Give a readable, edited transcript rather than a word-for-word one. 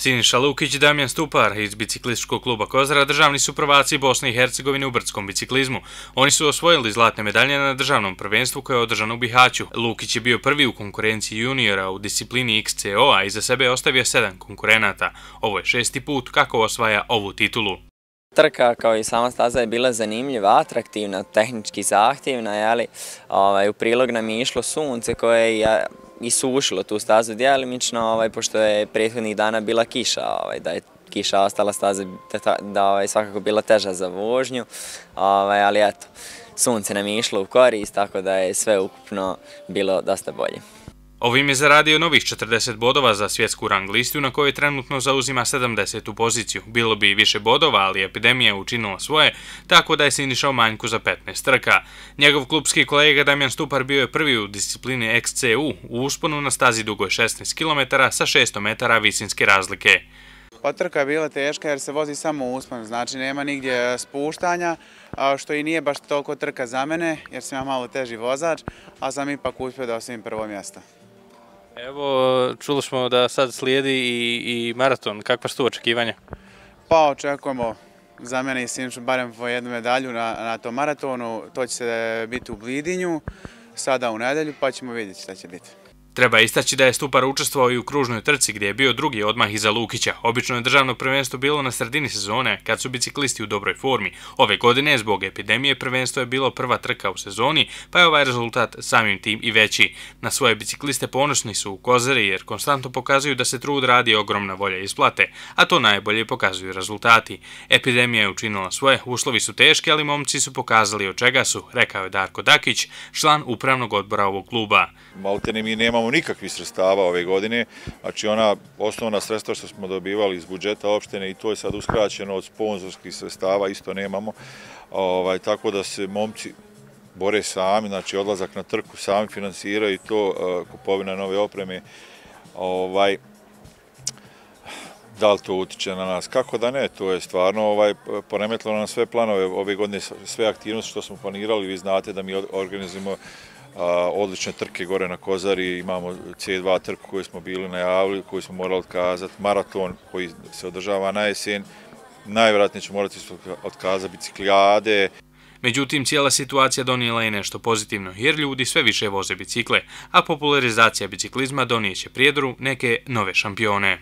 Siniša Lukić i Damjan Stupar iz biciklističkog kluba Kozara državni su prvaci Bosne i Hercegovine u brdskom biciklizmu. Oni su osvojili zlatne medalje na državnom prvenstvu koje je održano u Bihaću. Lukić je bio prvi u konkurenciji juniora u disciplini XCO, a iza sebe je ostavio 7 konkurenata. Ovo je 6. put kako osvaja ovu titulu. Trka kao i sama staza je bila zanimljiva, atraktivna, tehnički zahtjevna, u prilog nam je išlo sunce koje je isušilo tu stazu djelimično, pošto je prethodnih dana bila kiša, da je kiša ostala staza da je svakako bila teža za vožnju, ali eto, sunce nam je išlo u korist, tako da je sve ukupno bilo dosta bolje. Ovim je zaradio novih 40 bodova za svjetsku rang listu na kojoj trenutno zauzima 70. poziciju. Bilo bi i više bodova, ali epidemija je učinila svoje, tako da je Siniša u manjku za 15 trka. Njegov klubski kolega Damjan Stupar bio je prvi u disciplini XCU u usponu na stazi dugoj 16 km sa 600 metara visinske razlike. Pa trka je bila teška jer se vozi samo u uspon, znači nema nigdje spuštanja, što i nije baš toliko trka za mene jer sam ja malo teži vozač, a sam ipak uspio da osvojim prvo mjesto. Evo, čuli smo da sad slijedi i maraton. Kakva su tu očekivanja? Pa očekujemo za mene i Sinišu barem po jednu medalju na tom maratonu. To će se biti u Blidinju, sada u nedelju, pa ćemo vidjeti šta će biti. Treba istaći da je Stupar učestvovao i u kružnoj trci gdje je bio drugi odmah iza Lukića. Obično je državno prvenstvo bilo na sredini sezone kad su biciklisti u dobroj formi. Ove godine zbog epidemije prvenstvo je bilo prva trka u sezoni, pa je ovaj rezultat samim tim i veći. Na svoje bicikliste ponosni su u Kozari jer konstantno pokazuju da se trud radi, ogromna volja isplate, a to najbolje pokazuju rezultati. Epidemija je učinila svoje, uslovi su teški, ali momci su pokazali od čega su, rekao je Darko Dakić, član upravnog odbora ovog kluba. Maltene mi nemamo nikakvih sredstava ove godine, znači ona osnovna sredstva što smo dobivali iz budžeta opštine i to je sad uskraćeno od sponzorskih sredstava, isto nemamo, tako da se momci bore sami, znači odlazak na trku sami finansiraju i to, kupovina nove opreme, da li to utiče na nas, kako da ne, to je stvarno poremetilo na sve planove ove godine, sve aktivnosti što smo planirali, vi znate da mi organizujemo odlične trke gore na Kozari, imamo C2 trku koju smo bili najavili, koju smo morali otkazati, maraton koji se održava na jesen, najvjerojatnije ćemo morati otkazati biciklijade. Međutim, cijela situacija donijela je nešto pozitivno, jer ljudi sve više voze bicikle, a popularizacija biciklizma donijeće Prijedoru neke nove šampione.